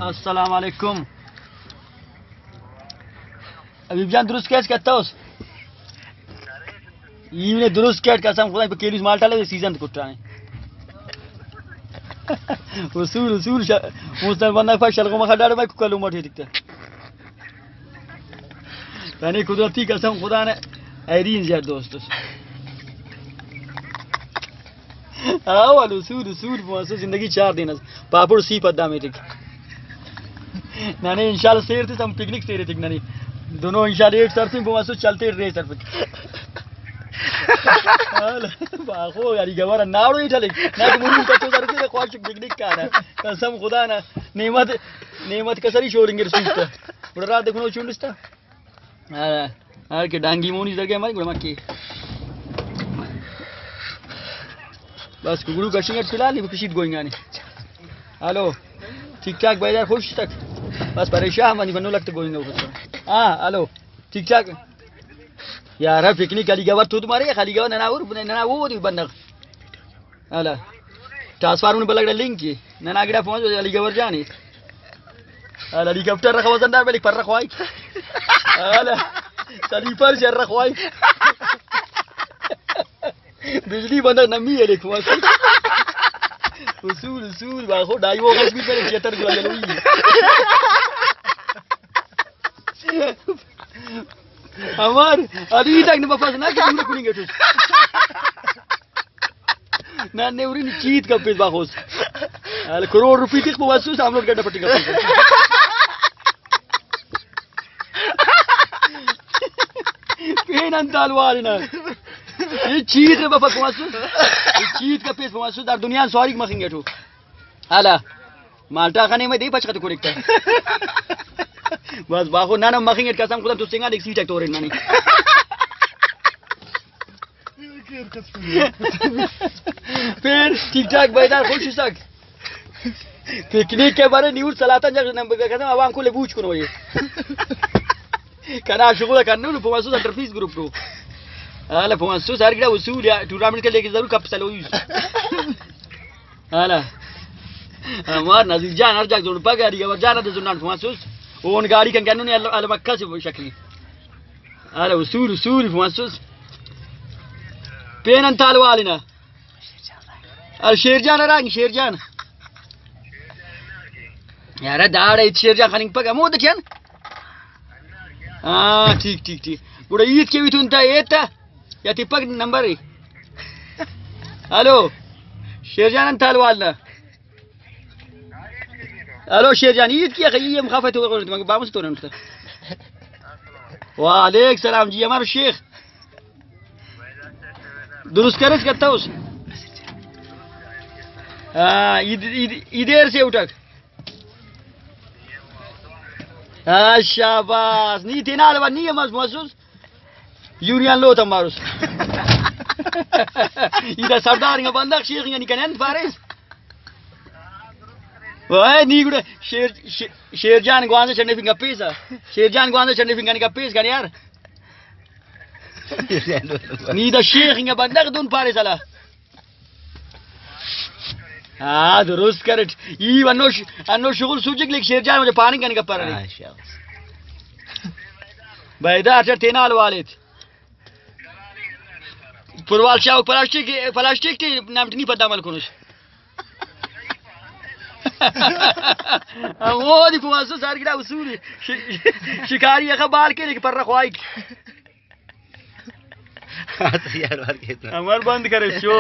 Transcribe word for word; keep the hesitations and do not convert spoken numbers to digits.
السلام علیکم۔ حبیب جان، درست کیچ کتوس؟ ای نے درست کیٹ، قسم خدا پہ کیلوس مالٹا لگے سیزن کٹانے۔ اصول، اصول شا-، مستر بندہ پاک شلغو مخا ڈاڑے میں کلو مٹے دکھتا۔ تنے قدرتی قسم خدا نے ایرین زیاد دوست اس۔ آ والو سود سود پوانسو زندگی چار دن اس۔ پاپڑ سی پدا میٹک۔ ننے انشاءاللہ سیر تے ہم پکنک سیر تک ننے۔ دونوں انشاءاللہ ایٹ سرفنگ پوانسو چلتے رے سرفنگ۔ باخو یاری گوارا ناڑو ہی ٹلے۔ نہ تو مجھے کچو سر کے خواہش پکنک کا رہا۔ قسم خدا نا نعمت، نعمت کسری شورنگ رسوستا۔ بڑا رات دیکھو چونڈستا۔ ہر، ہر کہ ڈانگی مونی درگہ مری گڑا مکی۔ بس کگڑو کشنگ اٹ فی الحال نی کشید گوئنگانی۔ ہلو، ٹھیک ٹھاک بھائی یار، خوش تک؟ بس پریشان منی بنو لگتے گوئنگ۔ ہاں، ہلو، ٹھیک ٹھاک؟ یار پکنک علی گوار تو تمہارے خالی گوار ننا اور ننا وہ دی بندغ۔ ہلا۔ ٹرانسفارمر بلک ڈا لنک کی۔ ننا گڑا پہنچ علی گبر جانی۔ ہلا ہیلی کاپٹر رکھا وزن دار بلک پر رکھوائی۔ ہلا۔ سلیپر شر رکھوائی۔ بجلی بندہ نمی ہے لکھوا۔ اصول، اصول، باخو، ڈائی وہ کچھ بھی پہلے چیتر گلا جلوئی۔ امر، ادی تک نہ بفاس نہ کہ دور کنی گٹوس۔ نہ نے ارین چیت کپیس باخوس۔ ال کروڑ روپی تک بواسوس ہم لوٹ گڈ پٹی کپیس۔ پین انتال وارنا۔ یہ چیت بفک بواسوس۔ یہ چیت کپیس بواسوس در دنیا سواری مخنگ گٹو۔ ہلا، مالٹا خنے میں دے پچ خط کھڑک تا۔ بس باخو نانا مخنگ اٹ قسم خدا تو سنگا دیکھ سیٹک تورن منی۔ پھر ٹھیک ٹھاک بیدار خوش سک۔ پکنک کے بارے نیوز سلاتا جب نمبر قسم عوام کو لے بوچ کنو یہ۔ کنا شغل کنو نو پواسو سنٹر پیس گروپ نو۔ ہلا پواسو سر گڑا اصول یا ٹورنامنٹ کے لے کے ضرور کپ سلویس۔ ہلا۔ ہمار نزیک جان ہر جاگہ زون پگہ علی گبر جان دے زنان پواسوس۔ اون گاڑی کن گنو نے ال مکہ سے شکلی۔ ہلا اصول اصول پواسوس۔ پین انتال والنا۔ ال شیر جان رنگ شیر جان۔ یار داڑے شیر جان خننگ پگہ مود چن۔ ہاں، ٹھیک، ٹھیک، ٹھیک۔ گڑا ہیت کے بھی تون تا ایتا یا تپک نمبر ای۔ ہلو، شیر جان انت حال وال نا؟ ہلو، شیر جان، ہیت کیا خی ایم خفا تو مگہ بامس تو رنٹ۔ وعلیک سلام جی، ہمارو شیخ۔ درست کرس کتوس۔ ہاں، ای دیر سے اٹھک۔ ہاں، شاباس۔ نی تینا الوا نی ہم اس محسوس۔ یونین لو تم ماروس۔ ای دا سردار انگا بندغ شیخ انگا نی کنے انت پاریس۔ وائے نی گڑا شیر، شیر، شیر جان گوانزہ چنڈے فنگا پیسا۔ شیر جان گوانزہ چنڈے فنگا نی کپیس کنے یار۔ نی دا شیخ انگا بندغ دن پاریس الا۔ ہاں، درست کرٹ۔ ای ہنو ش-، ہنو شغل سوچک لیک شیر جان مجھے پاننگ کنے گپر نے۔ ہاں، شاباس۔ بیدا اچھا تینا حال والد۔ پروال شاہ پلاسٹک، پلاسٹک تے نام نی پدا عمل کنوش۔ ہمو دی پواسو سار گڑا اصول۔ ش-، شکاری اخہ بال کے لیک پر خواہک۔ ہاں، تیار وار کے تو۔ امر بند کرے چو۔